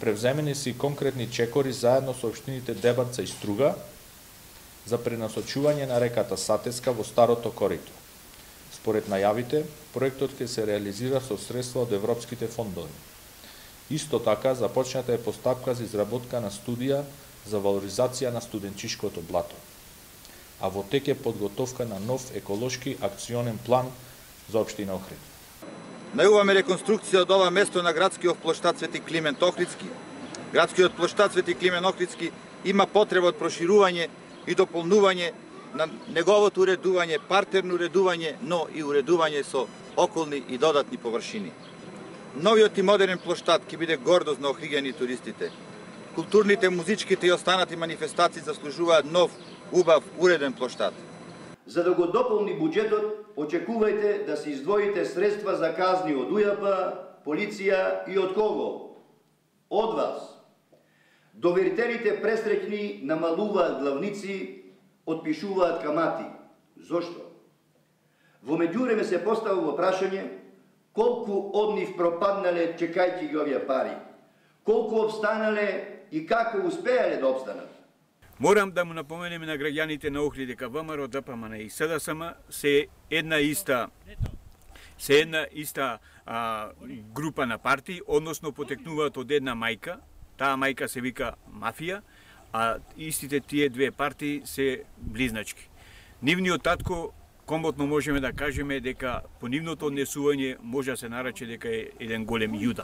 Превземени се и конкретни чекори заедно со општините Дебарца и Струга за пренасочување на реката Сатеска во старото корито. Според најавите, проектот ќе се реализира со средства од европските фондови. Исто така, започната е постапка за изработка на студија за валоризација на студенчишкото блато, а во тек е подготовка на нов еколошки акционен план за општина Охрид. Најуваме реконструкција од ова место на градскиот плоштад Свети Климент Охридски. Градскиот плоштад Свети Климент Охридски има потреба од проширување и дополнување на неговото уредување, партерно уредување, но и уредување со околни и додатни површини. Новиот и модерен плоштад ќе биде гордост на охриѓани туристите. Културните, музичките и останати манифестации заслужуваат нов, убав, уреден плоштад. За да го дополни буџетот, очекувајте да се издвоите средства за казни од УЈП, полиција и од кого? Од вас. Доверителите пресреќни намалуваат главници, отпишуваат камати. Зошто? Во меѓувреме се поставува прашање колку од нив пропаднале чекајќи ги овие пари, колку обстанале и како успеале да обстанат. Морам да му напоменеме на граѓаните на Охрид дека ВМРО, ДПМН и СДСМ се една иста група на партии, односно потекнуваат од една мајка. Таа мајка се вика мафија, а истите тие две партии се близначки. Нивниот татко, комотно можеме да кажеме дека по нивното однесување може да се нарече дека е еден голем јуда.